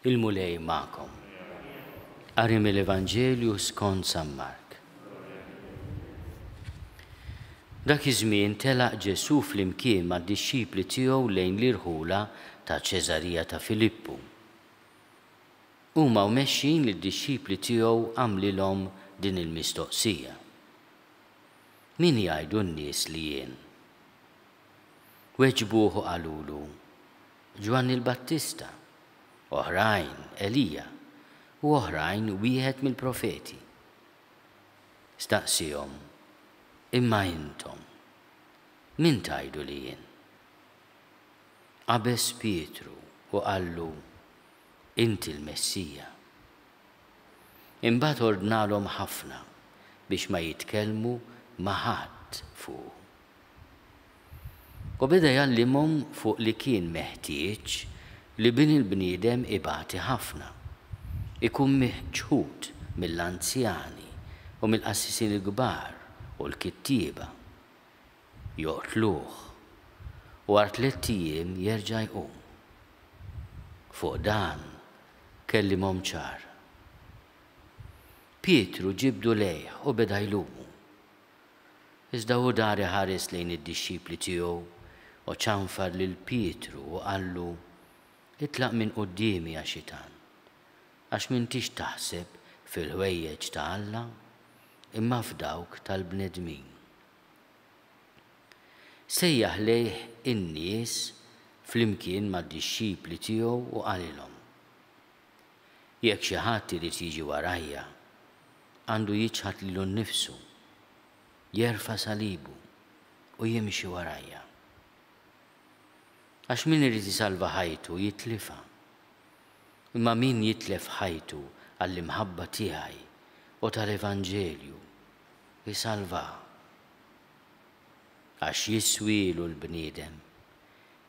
Il-Mulej magħkom. Qari mill-Evanġelju skont San Mark. Dak iż-żmien telaq Ġesù flimkien mad-dixxipli tiegħu lejn l-irħula ta' Ċesarija ta' Filippu. Huma u mexjin lid-dixxipli tiegħu għamlilhom din il-mistoqsija, Min jgħidu n-nies li jien? Weġbuh u qalulu, Ġwanni l-Battista, oħrajn, Elija, u oħrajn, wieħed mill-profeti. Staqsiehom, Imma intom, min tgħidu li jien? Qabeż Pietru u qallu, Inti l-Messija. Imbagħad ordnalhom ħafna biex ma jitkellmu ma' ħadd fuqu. U beda jgħallimhom fuq li kien meħtieġ li Bin il-bniedem ibati ħafna, ikun miċħud mill-anzjani u mill-qassisin il-kbar u l-kittieba, joqtluh, u wara tlett ijiem jerġa' jqum. Fuq dan kellimhom ċar. Pietru ġibdu lejh u beda jlumu. Iżda hu dar iħares lejn id-dixxipli tiegħu u ċanfar lil Pietru u qallu, Itlaq minn quddiemi, ja Xitan, għax m'intix taħseb fil-ħwejjeġ ta' Alla, imma f'dawk tal-bnedmin. Sejjaħ lejh in-nies flimkien mad-dixxipli tiegħu u qalilhom, Jekk xi ħadd irid jiġi warajja, għandu jiċħad lilu nnifsu, jerfa' salibu, u jimxi warajja. Għax min irid isalva ħajtu jitlifha, imma min jitlef ħajtu għall-imħabba tiegħi u tal-evanġelju, isalvaha. Għax jiswielu l-bniedem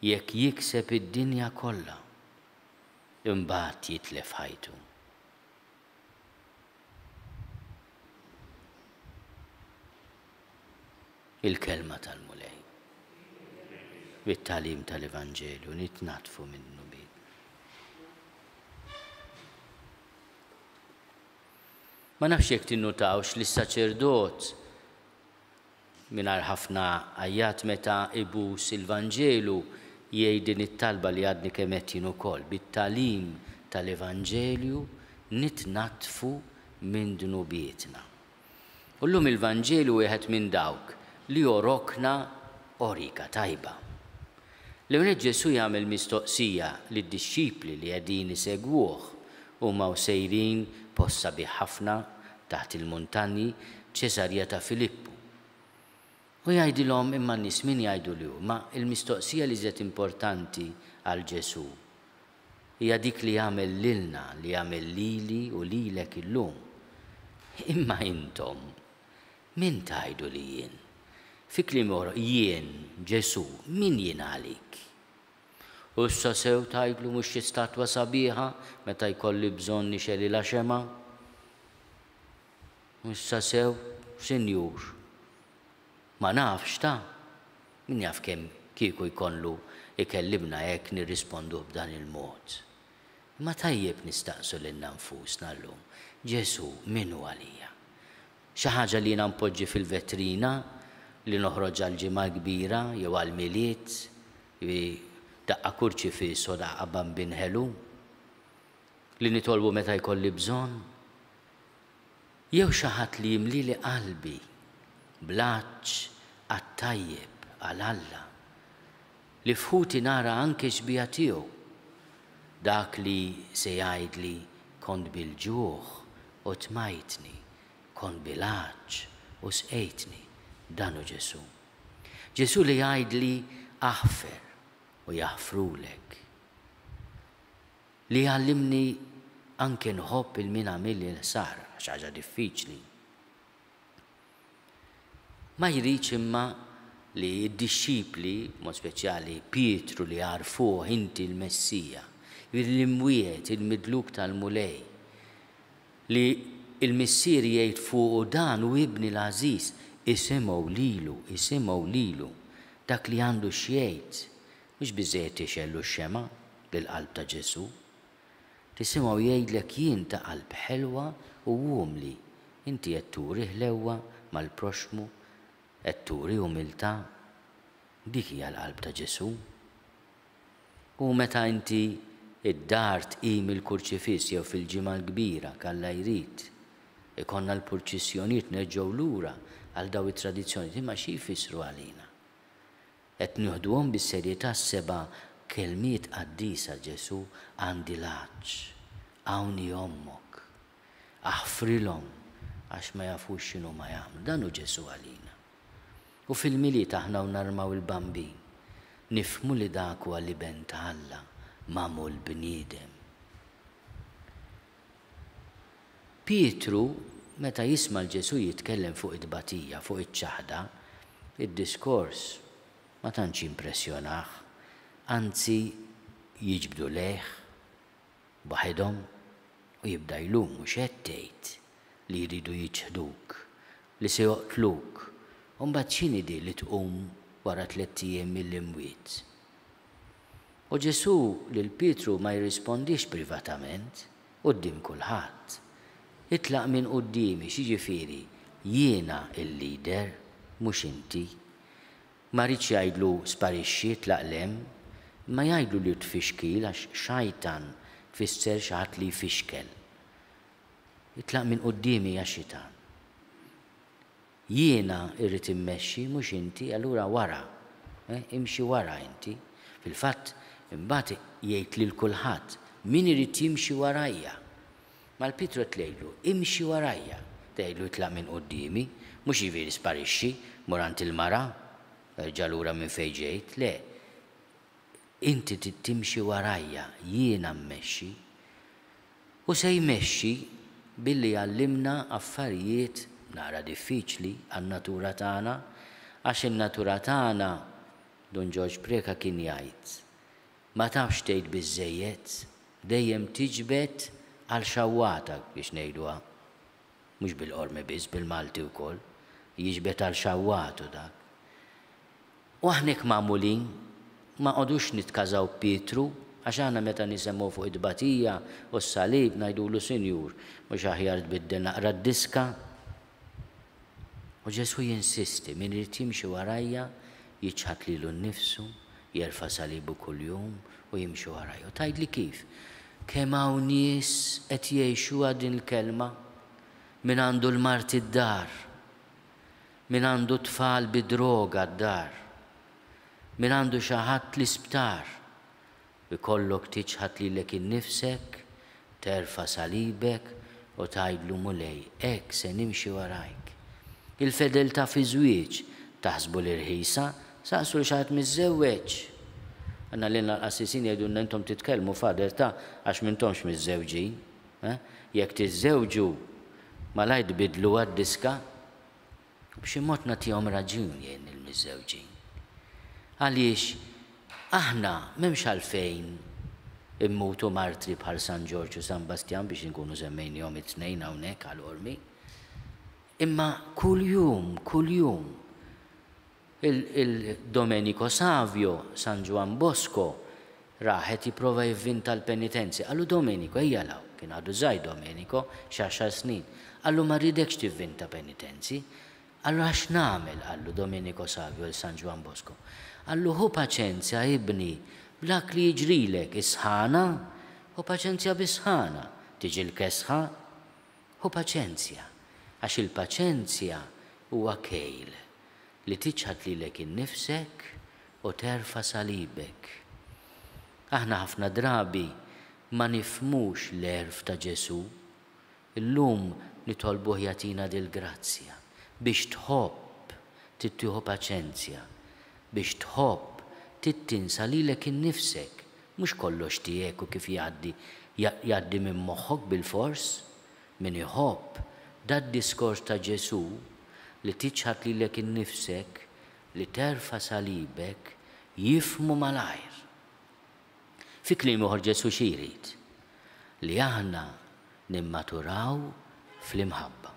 jekk jikseb id-dinja kollha, imbagħad jitlef ħajtu. Il-Kelma tal-Mulej. Bit-tagħlim tal-Evanġelju nitnaddfu minn dnubietna. Ma nafx jekk tinnutawx li s-saċerdot Mingħajr ħafna għajjat meta ibus il-Vanġelu jgħid din it-talba li għadni kemm għedt jien ukoll, bit-tagħlim tal-Evanġelju nitnaddfu minn dnubietna. U llum il-Vanġelu wieħed minn dawk li jogħrokna għorika tajba. L-ewwel nett Ġesù jagħmel mistoqsija lid-dixxipli li qegħdin isegwuh huma u sejrin post sabiħ ħafna taħt il-muntanji, Ċesarija ta' Filippu. U jgħidilhom imma n-nies min jgħidu li hu? Ma l-mistoqsija l-iżjed importanti għal Ġesù hija dik li jagħmel lilna, li jagħmel lili u lilek illum. Imma intom, min tgħidu li jien? Fi kliem ieħor, jien, Ġesù, min jien għalik? U issa sew tgħidlu mhux xi statwa sabiħa meta jkolli bżonn nixgħelilha xemgħa? Issa sew, sinjur. Ma nafx ta'. Min jaf kemm kieku jkollu jkellimna hekk nirrisponduh b'dan il-mod. Imma tajjeb nistaqsu lilna nfusna llum, Ġesù min hu għalija? Xi ħaġa li jiena npoġġi fil-vetrina li noħroġ għall-Ġimgħa l-Kbira jew għall-Milied, jiġifieri daqqa kurċifiss u daqqa bambin ħelu, li nitolbu meta jkolli bżonn? Jew xi ħadd li jimlieli qalbi bl-għatx għat-tajjeb, għal Alla, li f'ħuti nara anke x-xbieha tiegħu, dak li se jgħidli kont bil-ġuħ u tmajtni, kont bil-għatx u sqejtni, dan hu Ġesù. Ġesù li jgħidli aħfer u jaħfrulek. Li jgħallimni anke nħobb 'il min għamilli l-ħsara, xi ħaġa diffiċli. Ma jridx imma li d-dixxipli, b'mod speċjali Pietru li għarfuh inti l-Messija, jiġifieri l-imwiegħed, il-midluk tal-Mulej, li l-Missier jgħid fuqu dan hu ibni l-għażiż, isimgħu lilu, isimgħu lilu, dak li għandu x'jgħid. Mhux biżżejjed tixgħellu x-xemgħa lill-qalb ta' Ġesù. Tisimgħu jgħidlek jien ta' qalb ħelwa u umli. Inti qed turi ħlewwa mal-proxxmu? Qed turi umiltà? Dik hija l-qalb ta' Ġesù. U meta inti d-dar tqim il-Kurċifiss jew fil-Ġimgħa l-Kbira, k'Alla jrid, ikollna l-purċissjonijiet nerġgħu lura għal daw it-tradizzjonijiet, imma xi jfissru għalina? Qed nieħduhom bis-serjetà s-seba' kelmiet qaddisa Ġesù, Għandi l-għatx, hawn hi ommok. Aħfrilhom għax ma jafux x'inhuma jagħmlu. Dan hu Ġesù għalina. U fil-Milied aħna u narmaw il-Bambin, nifhmu li dak huwa l-Iben ta' Alla magħmul bniedem. Pietru, meta jisma' 'l Ġesù jitkellem fuq it-tbatija, fuq iċ-ċaħda, id-diskors ma tantx jimpressjonah, anzi jiġbdu lejh waħedhom u jibda jlumu, x'qed tgħid li jridu jiċħduk, li se joqtluk, u mbagħad x'inhi di li tqum wara tlett ijiem mill-imwiet? U Ġesù lil Pietru ma jirrispondix privatament, quddiem kulħadd. Itlaq minn quddiemi, x'jiġifieri, jiena l-leader, mhux inti. Ma riedx jgħidlu sparixxi, itlaq 'l hemm, imma jgħidlu li hu tfixkil għax xajtan tfisser xi ħadd li jfixkel. Itlaq minn quddiemi ja xitan. Jiena rrid immexxi, mhux inti, allura wara, eh, imxi wara inti. Fil-fatt, imbagħad jgħid lil kulħadd, min irid jimxi warajja. Mal-Pietru qed tgħidlu, imxi warajja. Tgħidlu itlaq minn quddiemi, mhux jiġifieri sparixxi, mur għand il-mara, erġa' lura minn fejn ġejt, le. Inti trid timxi warajja, jiena mmexxi. Hu se jmexxi billi jgħallimna affarijiet naqra diffiċli għan-natura tagħna, għax in-natura tagħna, Dun Ġorġ Preca kien jgħid, ma tafx tgħid biżżejjed, dejjem tiġbed għal xawwatak biex ngħiduha, mhux bil-Qormi biss, bil-Malti wkoll, jiġbed għal xawwatu dak. U aħna hekk magħmulin, ma nqogħdux nitkażaw b'Pietru, għax aħna meta nisemgħu fuq it-tbatija u s-salib ngħidulu Sinjur, mhux aħjar tbiddel naqra d-diska? U Ġesù jinsisti, min irid jimxi warajja, jiċħad lilu nnifsu, jerfa' salibu kuljum u jimxi warajja. U tgħidli kif? Kemm hawn nies qed jgħixuha din il-kelma? Min għandu l-mard id-dar, Min għandu tfal bid-droga d-dar. Min għandu xi ħadd l-isptar. Ikollok tiċħad lilek innifsek, terfa' salibek u tgħidlu Mulej, hekk se nimxi warajk. Il-fedeltà fiż-żwieġ, taħsbu li rħisa? Saqsu 'l xi ħadd miżżewweġ! Għandna lilna l-qassisin jgħidulna intom titkellmu Father ta' għax m'intomx miżżewġin. Eh? Jekk tiżżewġu, malajr tbiddluha d-diska. U b'xi mod nagħtihom raġun jien lill-miżżewġin. Għaliex aħna m'hemmx għalfejn immutu martri bħal San Ġorġ u San Bastjan biex inkunu semmejniehom it-tnejn hawnhekk għal Qormi. Imma kuljum, kuljum, Il-Domenico Savio, San Ġwann Bosco, rah qed jipprova jivvinta l-penitenzi. Qallu, Domenico, ejja 'l hawn. Kien għadu żgħir Domenico, xi għaxar snin. Qallu, ma rridekx tivvinta penitenzi. Qallu, għax x'nagħmel? qallu Domenico Savio 'l San Ġwann Bosco. Qallu, ħu paċenzja, ibni, b'dak li jiġrilek, is-sħana, ħu paċenzja bis-sħana, tiġi l-kesħa, ħu paċenzja, għax il-paċenzja huwa kejl li tiċħad lilek innifsek u terfa' salibek. Aħna ħafna drabi ma nifhmux l-għerf ta' Ġesù. Illum nitolbuh jagħtina dil-grazzja. Biex tħobb trid tieħu paċenzja. Biex tħobb trid tinsa lilek innifsek. Mhux kollox tiegħek u kif jgħaddi jgħaddi minn moħħok bilfors. Min iħobb, dad-diskors ta' Ġesù, li tiċħad lilek innifsek, li terfa' salibek, jifhmu malajr. Fi kliem ieħor Ġesù xi jrid? Li aħna nimmaturaw fl-imħabba.